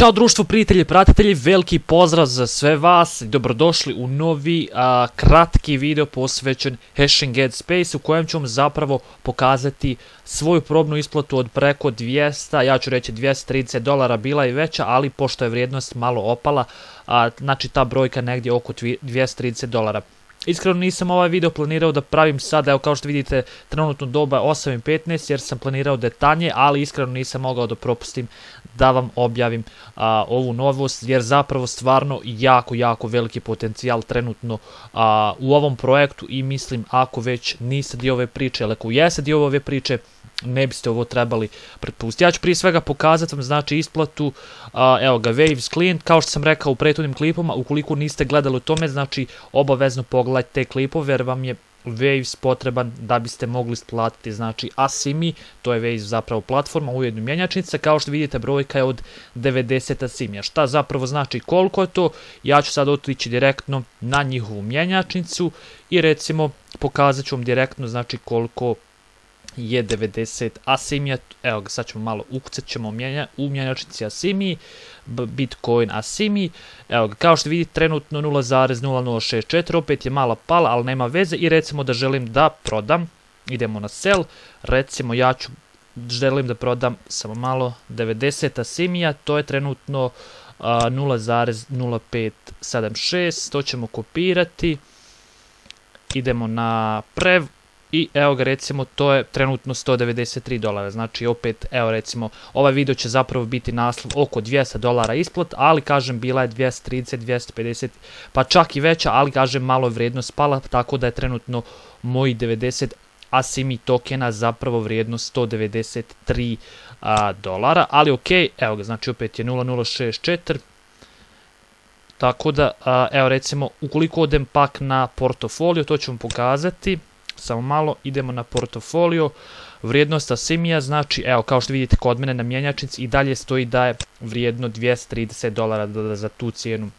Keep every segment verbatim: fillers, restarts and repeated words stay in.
Ćao društvo, prijatelji, pratitelji, veliki pozdrav za sve vas i dobrodošli u novi a, kratki video posvećen Hashing Headspace u kojem ću vam zapravo pokazati svoju probnu isplatu od preko dvjesto, ja ću reći dvjesto trideset dolara, bila je veća, ali pošto je vrijednost malo opala, a, znači ta brojka negdje oko dvjesto trideset dolara. Iskreno nisam ovaj video planirao da pravim sad, evo kao što vidite trenutno doba osam i petnaest jer sam planirao detaljnije, ali iskreno nisam mogao da propustim da vam objavim a, ovu novost jer zapravo stvarno jako jako veliki potencijal trenutno a, u ovom projektu i mislim ako već niste dio ove priče, ali ako jeste dio ove priče ne biste ovo trebali pretpustiti. Ja ću prije svega pokazati vam znači isplatu, a, evo ga Waves Client, kao što sam rekao u prethodnim klipama, ukoliko niste gledali o tome, znači obavezno pogledajte te klipove jer vam je Waves potreban da biste mogli isplatiti, znači Asimi, to je Waves zapravo platforma, ujedno mjenjačnica, kao što vidite brojka je od devedeset Asimija. Šta zapravo znači koliko je to? Ja ću sad otići direktno na njihovu mjenjačnicu i recimo pokazat ću vam direktno znači koliko je devedeset Asimija, evo ga sad ćemo malo ukucat ćemo u mjenjačnici Asimi, Bitcoin Asimi, evo ga kao što vidite trenutno nula zarez nula nula šezdeset četiri, opet je mala pala, ali nema veze i recimo da želim da prodam, idemo na sell, recimo ja ću, želim da prodam samo malo devedeset Asimija, to je trenutno uh, nula zarez nula pet sedam šest, to ćemo kopirati, idemo na prev, i evo ga recimo to je trenutno sto devedeset tri dolara, znači opet evo recimo ovaj video će zapravo biti naslov oko dvjesto dolara isplat, ali kažem bila je dvjesto trideset, dvjesto pedeset pa čak i veća, ali kažem malo je vrijednost pala, tako da je trenutno moji devedeset Asimi tokena zapravo vrijednost sto devedeset tri a, dolara, ali ok, evo ga znači opet je nula nula šezdeset četiri. Tako da a, evo recimo ukoliko odem pak na portofolio, to ću vam pokazati. Samo malo, idemo na portofolio, vrijednost Asimija, znači evo kao što vidite kod mene na mjenjačnici i dalje stoji da je vrijedno dvjesto trideset dolara da, da za tu cijenu.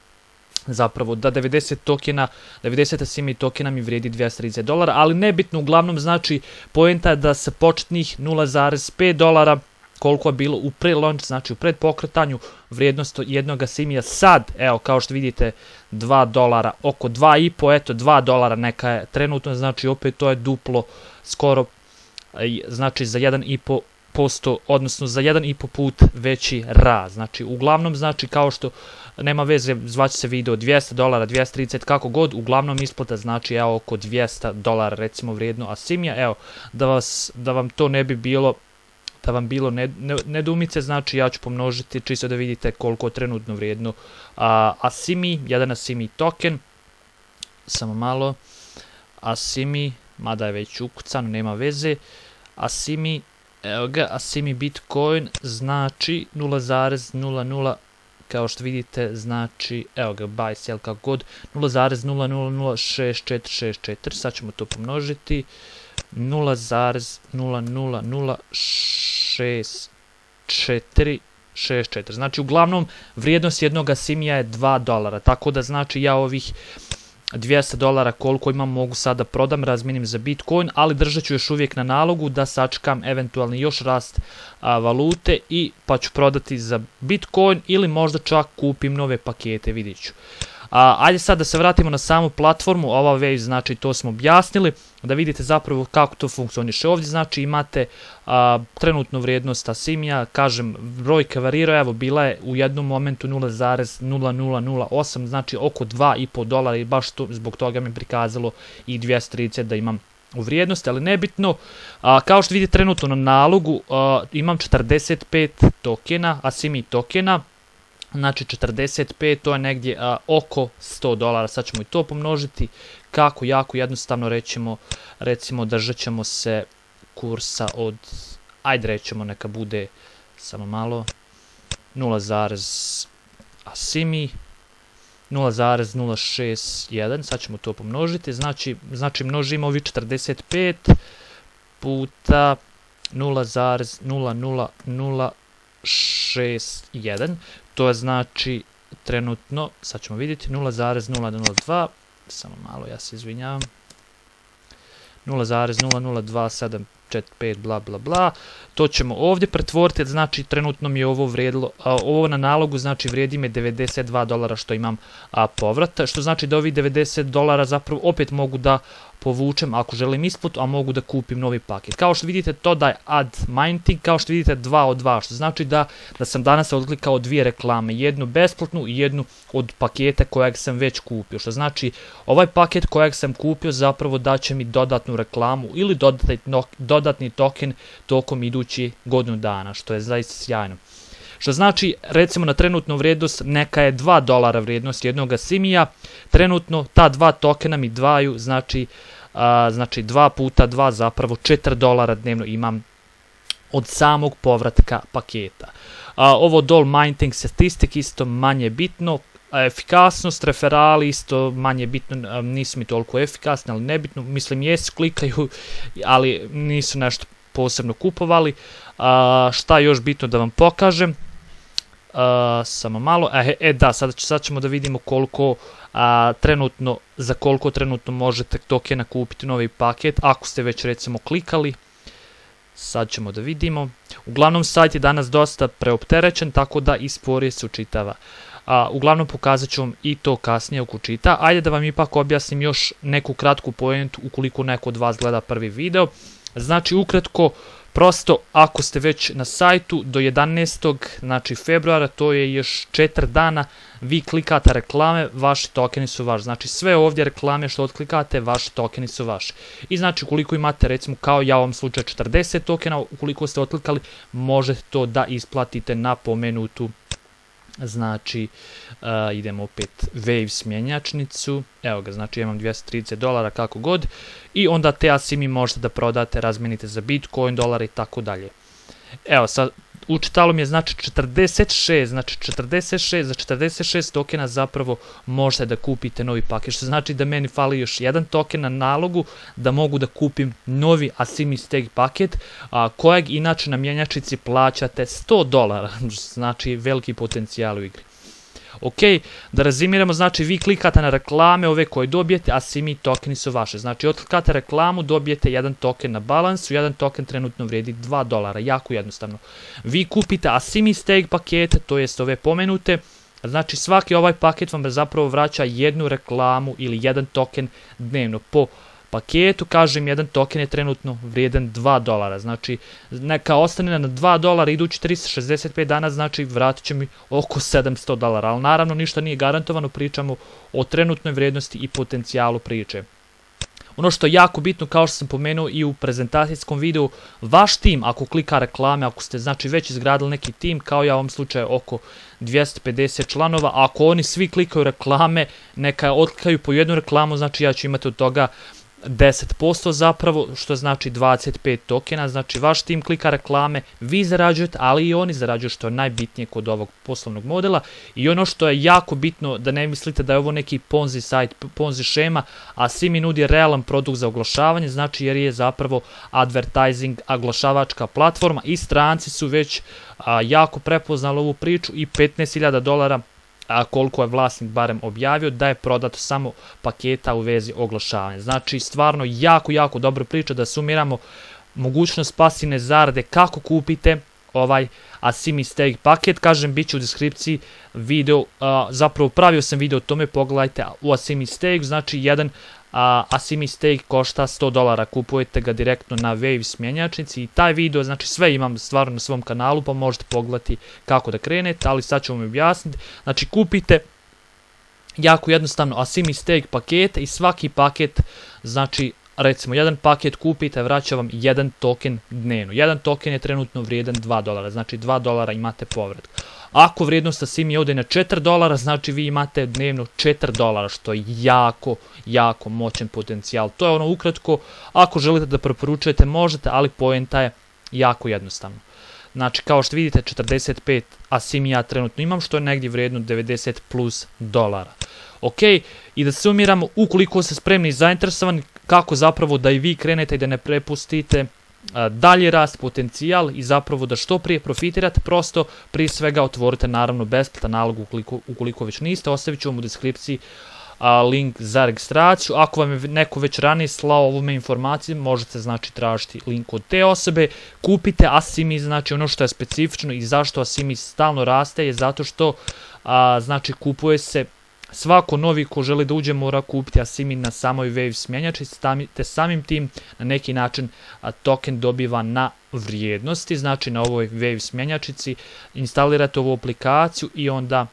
Zapravo da devedeset tokena, devedeset Asimi tokena mi vrijedi dvjesto trideset dolara, ali nebitno, uglavnom znači poenta je da sa početnih nula zarez pet dolara koliko je bilo u pre-launch, znači u predpokretanju, vrijednost jednog Asimija sad, evo kao što vidite dva dolara, oko dva i po, eto dva dolara neka je trenutno, znači opet to je duplo, skoro, znači za jedan i po posto, odnosno za jedan i po put veći rast, znači uglavnom znači kao što nema veze, zvaće se video dvjesto dolara, dvjesto trideset, kako god, uglavnom isplata znači evo oko dvjesto dolara recimo vrijedno Asimija, evo da, vas, da vam to ne bi bilo da vam bilo nedoumice, znači ja ću pomnožiti čisto da vidite koliko je trenutno vrijedno a, Asimi, jedan Asimi token, samo malo, Asimi, mada je već ukucano, nema veze, Asimi, evo ga, Asimi Bitcoin, znači nula zarez nula nula, kao što vidite, znači, evo ga, buy, sell, kako god, nula zarez nula nula nula šezdeset četiri šezdeset četiri, sad ćemo to pomnožiti, nula zarez nula nula nula šezdeset četiri šezdeset četiri, znači uglavnom vrijednost jednog Asimija je dva dolara, tako da znači ja ovih dvjesto dolara koliko imam mogu sada prodam, razmijenim za Bitcoin, ali držat ću još uvijek na nalogu da sačekam eventualni još rast a, valute i pa ću prodati za Bitcoin ili možda čak kupim nove pakete, vidjet ću. A, ajde sad da se vratimo na samu platformu, ova Waves, znači to smo objasnili, da vidite zapravo kako to funkcioniše. Ovdje znači imate a, trenutnu vrijednost Asimija, kažem brojka varira, evo bila je u jednom momentu nula zarez nula nula nula osam, znači oko dva i po dolara i baš to, zbog toga mi je prikazalo i dvjesto trideset da imam u vrijednosti, ali nebitno. A, kao što vidite trenutno na nalogu a, imam četrdeset pet tokena, Asimi tokena, znači četrdeset pet, to je negdje a, oko sto dolara, sad ćemo i to pomnožiti, kako jako jednostavno rećemo, recimo držat ćemo se kursa od, ajde rećemo neka bude, samo malo, nula zarez Asimi, nula zarez nula šezdeset jedan, sad ćemo to pomnožiti, znači, znači množimo ovi četrdeset pet puta nula zarez nula nula nula šezdeset jedan, to je znači trenutno, sad ćemo vidjeti, nula zarez nula nula dva, samo malo, ja se izvinjavam, nula zarez nula nula dva sedam četiri pet bla bla bla. To ćemo ovdje pretvoriti, znači trenutno mi je ovo vrijedilo, a, ovo na nalogu znači vrijedi me devedeset dva dolara što imam a, povrata, što znači da ovih devedeset dolara zapravo opet mogu da povučem ako želim isplatu, a mogu da kupim novi paket. Kao što vidite, to da je add mining, kao što vidite dva od dva, što znači da, da sam danas odklikao dvije reklame, jednu besplatnu i jednu od paketa kojeg sam već kupio, što znači ovaj paket kojeg sam kupio zapravo daće mi dodatnu reklamu ili dodatni, dodatni token tokom idući godinu dana, što je zaista sjajno. Što znači, recimo na trenutnu vrijednost, neka je dva dolara vrijednost jednog simija, trenutno ta dva tokena mi dvaju, znači, a, znači dva puta dva, zapravo četiri dolara dnevno imam od samog povratka paketa. A, ovo dol mining statistik isto manje bitno, a, efikasnost, referali isto manje bitno, a, nisu mi toliko efikasni, ali nebitno, mislim jesu, klikaju, ali nisu nešto posebno kupovali. A, šta još bitno da vam pokažem? Uh, samo malo, e, e da, sad, sad ćemo da vidimo koliko a, trenutno, za koliko trenutno možete tokena kupiti novi paket, ako ste već recimo klikali. Sad ćemo da vidimo. Uglavnom sajt je danas dosta preopterećen, tako da i sporije se učitava. A, uglavnom pokazat ću vam i to kasnije oko čita. Ajde da vam ipak objasnim još neku kratku pojentu ukoliko neko od vas gleda prvi video. Znači ukratko, prosto, ako ste već na sajtu do jedanaestog znači februara, to je još četiri dana, vi klikate reklame, vaši tokeni su vaši. Znači sve ovdje reklame što otklikate, vaši tokeni su vaši. I znači ukoliko imate recimo kao ja u ovom slučaju četrdeset tokena, ukoliko ste otklikali, možete to da isplatite na pomenutu. Znači, uh, idemo opet Waves mjenjačnicu, evo ga, znači imam dvjesto trideset dolara kako god, i onda te asimi možete da prodate, razmenite za Bitcoin, dolar i tako dalje. Evo, sad, učitalo mi je znači četrdeset šest, znači četrdeset šest, za četrdeset šest tokena zapravo možete da kupite novi paket, što znači da meni fali još jedan token na nalogu da mogu da kupim novi asimi stake paket, a, kojeg inače na mjenjačnici plaćate sto dolara, znači veliki potencijal u igri. Ok, da rezimiramo, znači vi klikate na reklame ove koje dobijete, asimi tokeni su vaše. Znači otklikate reklamu, dobijete jedan token na balansu, jedan token trenutno vrijedi dva dolara, jako jednostavno. Vi kupite asimi stake pakete, to jest ove pomenute, znači svaki ovaj paket vam zapravo vraća jednu reklamu ili jedan token dnevno po paketu. Kažem, jedan token je trenutno vrijedan dva dolara, znači neka ostane na dva dolara idući tristo šezdeset pet dana, znači vratit će mi oko sedamsto dolara, ali naravno ništa nije garantovano, pričamo o trenutnoj vrijednosti i potencijalu priče. Ono što je jako bitno, kao što sam pomenuo i u prezentacijskom videu, vaš tim ako klika reklame, ako ste znači već izgradili neki tim, kao ja u ovom slučaju oko dvjesto pedeset članova, ako oni svi klikaju reklame, neka otklikaju po jednu reklamu, znači ja ću imati od toga deset posto zapravo, što znači dvadeset pet tokena, znači vaš tim klika reklame, vi zarađujete, ali i oni zarađuju, što je najbitnije kod ovog poslovnog modela. I ono što je jako bitno, da ne mislite da je ovo neki ponzi sajt, ponzi šema, a Simi nudi realan produkt za oglašavanje, znači jer je zapravo advertising, oglašavačka platforma i stranci su već a, jako prepoznali ovu priču i petnaest hiljada dolara, a koliko je vlasnik barem objavio, da je prodato samo paketa u vezi oglašavanja. Znači stvarno jako, jako dobra priča. Da sumiramo, mogućnost pasivne zarade kako kupite ovaj asimi stake paket, kažem, bit će u deskripciji video, a, zapravo pravio sam video o tome, pogledajte u asimi stake, znači jedan a, asimi stake košta sto dolara, kupujete ga direktno na Waves mjenjačnici i taj video, znači sve imam stvarno na svom kanalu, pa možete pogledati kako da krenete, ali sad ću vam objasniti. Znači kupite jako jednostavno asimi stake pakete i svaki paket, znači recimo jedan paket kupite, vraća vam jedan token dnevno. Jedan token je trenutno vrijedan dva dolara, znači dva dolara imate povrat. Ako vrijednost asimi ode na četiri dolara, znači vi imate dnevno četiri dolara, što je jako, jako moćan potencijal. To je ono ukratko, ako želite da preporučujete možete, ali poenta je jako jednostavno. Znači kao što vidite četrdeset pet asimi ja trenutno imam, što je negdje vrijedno devedeset plus dolara. Ok, i da sumiramo, ukoliko ste spremni i zainteresovani, kako zapravo da i vi krenete i da ne prepustite dalje rast, potencijal i zapravo da što prije profitirate, prosto prije svega otvorite naravno besplatan nalog ukoliko, ukoliko već niste, ostavit ću vam u deskripciji a, link za registraciju. Ako vam je neko već ranije slao ovome informacije, možete znači tražiti link od te osobe. Kupite Asimi, znači ono što je specifično i zašto Asimi stalno raste je zato što a, znači kupuje se svako novi ko želi da uđe mora kupiti Asimi na samoj Waves mjenjačnici, te samim tim na neki način a, token dobiva na vrijednosti, znači na ovoj Waves mjenjačnici instalirate ovu aplikaciju i onda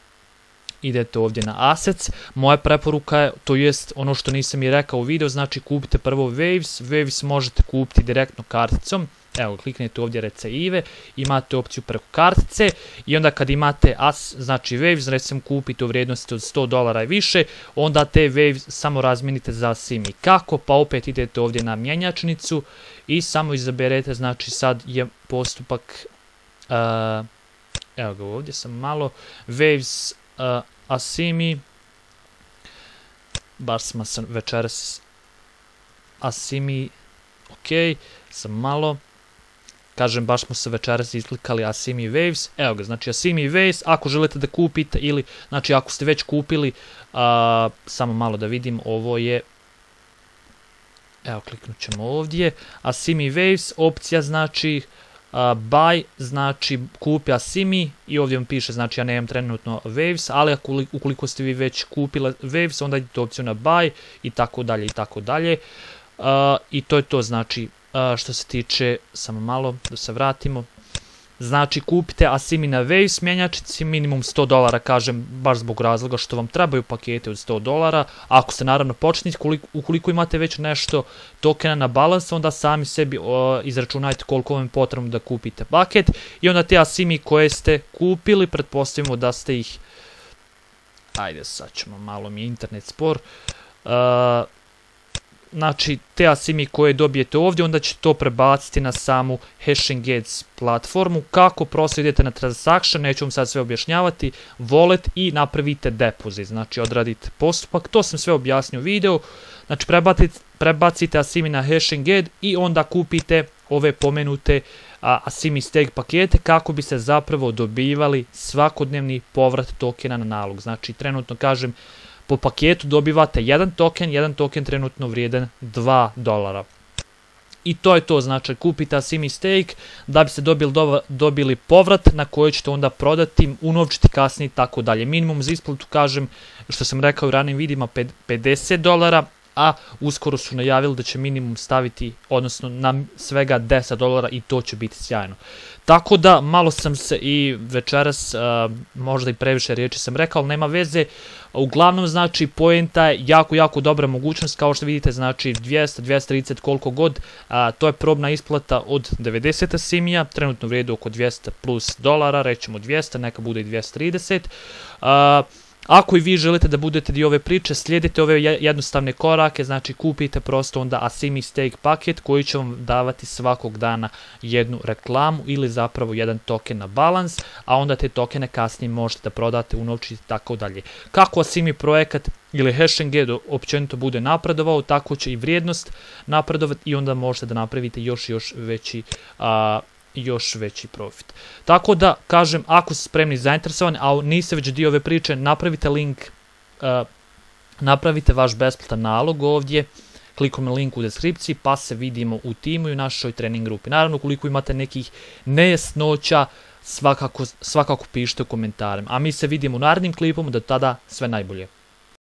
idete ovdje na Assets. Moja preporuka je, to jest ono što nisam i rekao u videu, znači kupite prvo Waves, Waves možete kupiti direktno karticom. Evo, kliknete ovdje receive, imate opciju preko kartice i onda kad imate as, znači Waves, recimo kupite u vrijednosti od sto dolara i više, onda te Waves samo razmijenite za Asimi. Kako? Pa opet idete ovdje na mjenjačnicu i samo izaberete, znači sad je postupak, uh, evo ga ovdje sam malo, Waves uh, Asimi, baš smo sam večeras Asimi, ok, sam malo, kažem, baš smo se večeras izklikali Asimi Waves, evo ga, znači Asimi Waves, ako želite da kupite ili, znači ako ste već kupili, a, samo malo da vidim, ovo je, evo kliknut ćemo ovdje, Asimi Waves, opcija znači a, buy, znači kupi Asimi i ovdje vam piše, znači ja nemam trenutno Waves, ali ako, ukoliko ste vi već kupili Waves, onda idete opciju na buy i tako dalje i tako dalje, a, i to je to, znači, Uh, što se tiče, samo malo da se vratimo, znači kupite Asimi na Waves mjenjačnici, minimum sto dolara, kažem, baš zbog razloga što vam trebaju pakete od sto dolara, ako ste naravno početnici, ukoliko imate već nešto tokena na balans, onda sami sebi uh, izračunajte koliko vam je potrebno da kupite paket i onda te Asimi koje ste kupili, pretpostavimo da ste ih, ajde sad ćemo, malo mi je internet spor, uh, znači te Asimi koje dobijete ovdje, onda ćete to prebaciti na samu HashingAds platformu. Kako? Prosto idete na transaction, neću vam sad sve objašnjavati, wallet i napravite depozit, znači odradite postupak, to sam sve objasnio u videu, znači prebacite, prebacite Asimi na HashingAds i onda kupite ove pomenute a, Asimi stake pakete kako bi se zapravo dobivali svakodnevni povrat tokena na nalog. Znači trenutno kažem, po paketu dobivate jedan token, jedan token trenutno vrijedan dva dolara. I to je to, znači kupite Asimi stake da biste dobili, dobili povrat na koji ćete onda prodati, unovčiti kasnije i tako dalje. Minimum za isplatu, kažem, što sam rekao u ranijim vidima, pedeset dolara, a uskoro su najavili da će minimum staviti, odnosno na svega deset dolara i to će biti sjajno. Tako da, malo sam se i večeras, uh, možda i previše riječi sam rekao, ali nema veze. Uglavnom, znači, poenta je jako, jako dobra mogućnost, kao što vidite, znači, dvjesto, dvjesto trideset, koliko god, uh, to je probna isplata od devedeset Asimija, trenutno vrijedi oko dvjesto plus dolara, rećemo dvjesto, neka bude i dvjesto trideset. Uh, Ako i vi želite da budete dio ove priče, slijedite ove jednostavne korake, znači kupite prosto onda Asimi stake paket koji će vam davati svakog dana jednu reklamu ili zapravo jedan token na balans, a onda te tokene kasnije možete da prodate, unovčiti i tako dalje. Kako Asimi projekat ili HashingAds općenito bude napredovao, tako će i vrijednost napredovati i onda možete da napravite još još veći a, još veći profit. Tako da, kažem, ako ste spremni i zainteresovani, a niste već dio ove priče, napravite link, uh, napravite vaš besplatan nalog ovdje, klikom na link u deskripciji, pa se vidimo u timu i u našoj trening grupi. Naravno, ukoliko imate nekih nejasnoća, svakako, svakako pišite u komentarima. A mi se vidimo u narednim klipom, do tada sve najbolje.